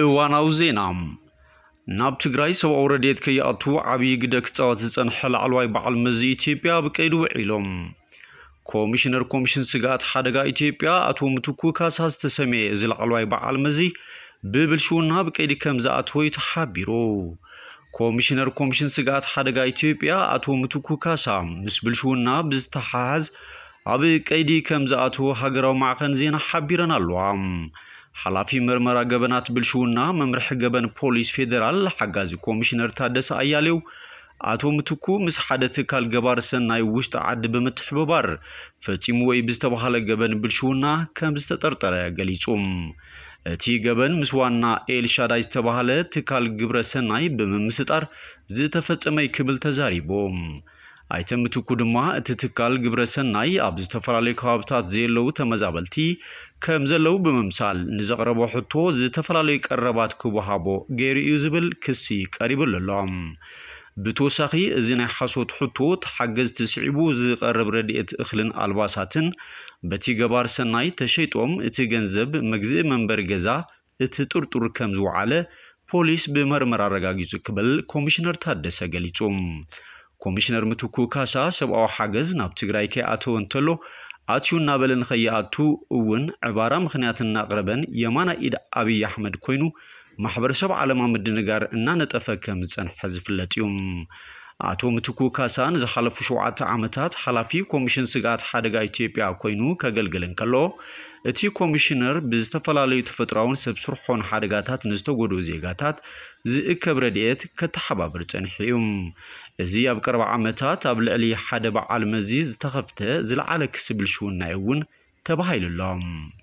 እዋናዊ ዜና። ናብ ትግራይ ሰብኣዊ ረድኤት ከይኣቱ ዓብዪ ግደ ክፃወት ዝፀንሐ ላዕለዋይ በዓል መዚ ኢትዮጵያ ኣብ ቀይዲ ውዒሎም። ኮሚሽነር ኮሚሽን ስግኣት ሓደጋ ኢትዮጵያ ኣቶ ምትኩ ካሳ ዝተሰመየ እዚ ላዕለዋይ በዓል መዚ ብብልሽውና ኣብ ቀይዲ ከም ዝኣተወ እዩ ተሓቢሩ። ኮሚሽነር ኮሚሽን ስግኣት ሓደጋ ኢትዮጵያ ኣቶ ምትኩ ካሳ ምስ ብልሽውና ብዝተሓሓዝ ኣብ ቀይዲ ከም ዝኣተወ ሃገራዊ ማዕኸን ዜና ሓቢረን ኣለዋ። ሓላፊ መርመራ ገበናት ብልሽውና መምርሒ ገበን ፖሊስ ፌዴራል ሓጋዚ ኮሚሽነር ታደሰ ኣያሌው ኣቶ ምትኩ ምስ ሓደ ትካል ገባር ሰናይ ውሽጢ ዓዲ ብምትሕብባር ፈጺሙ ወይ ብዝተባሃለ ገበን ብልሽውና ከም ዝተጠርጠረ ገሊጹ። እቲ ገበን ምስ ዋና ኤልሻዳይ ዝተባሃለ ትካል ግብረ ሰናይ ብምምስጣር ዝተፈጸመ እዩ ክብል ተዛሪቡ። ኣይተ ምትኩ ድማ እቲ ትካል ግብረ ሰናይ ኣብ ዝተፈላለዩ ከባብታት ዘየለዉ ተመዛበልቲ ከም ዘለዉ ብምምሳል ንዘቕረቦ ሕቶ ዝተፈላለዩ ቀረባት ክወሃቦ ገይሩ እዩ ዝብል ክሲ ቀሪብሉ ኣሎ። ብተወሳኺ እዚ ናይ ሓሶት ሕቶ ተሓገዝቲ ስዒቡ ዝቐርብ ረድኤት እኽልን ኣልባሳትን በቲ ገባር ሰናይ ተሸይጦም እቲ ገንዘብ መግዝኢ መንበሪ ገዛ እቲ ጥርጡር ከም ዝወዓለ ፖሊስ ብመርመራ ኣረጋጊጹ ክብል ኮሚሽነር ታደሰ ገሊጹ። ኮሚሽነር ምትኩ ካሳ ሰብኣዊ ሓገዝ ናብ ትግራይ ከይኣተወ እንተሎ ኣትዩ እናበለ ንኸይኣቱ እውን ዕባራ ምኽንያት እናቕረበን የማናይ ኢድ ኣብይ ኣሕመድ ኮይኑ ማሕበረሰብ ዓለማ ምድንጋር እናነጠፈ ከም ዝጸንሐ ዝፍለጥ እዩ። ኣቶ ምትኩ ካሳ ንዝሓለፉ ሸውዓተ ዓመታት ሓላፊ ኮሚሽን ስግኣት ሓደጋ ኢትዮጵያ ኮይኑ ከገልግል እንከሎ እቲ ኮሚሽነር ብዝተፈላለዩ ተፈጥሮኣውን ሰብ ስርሖን ሓደጋታት ንዝተጎድኡ ዜጋታት ዝእከብ ረድኤት ከተሓባብር ጸኒሑ እዩ። እዚ ኣብ ቀረባ ዓመታት ኣብ ልዕሊ ሓደ በዓል መዚ ዝተኸፍተ ዝለዓለ ክሲ ብልሽውና እዩ እውን ተባሂሉ ኣሎ።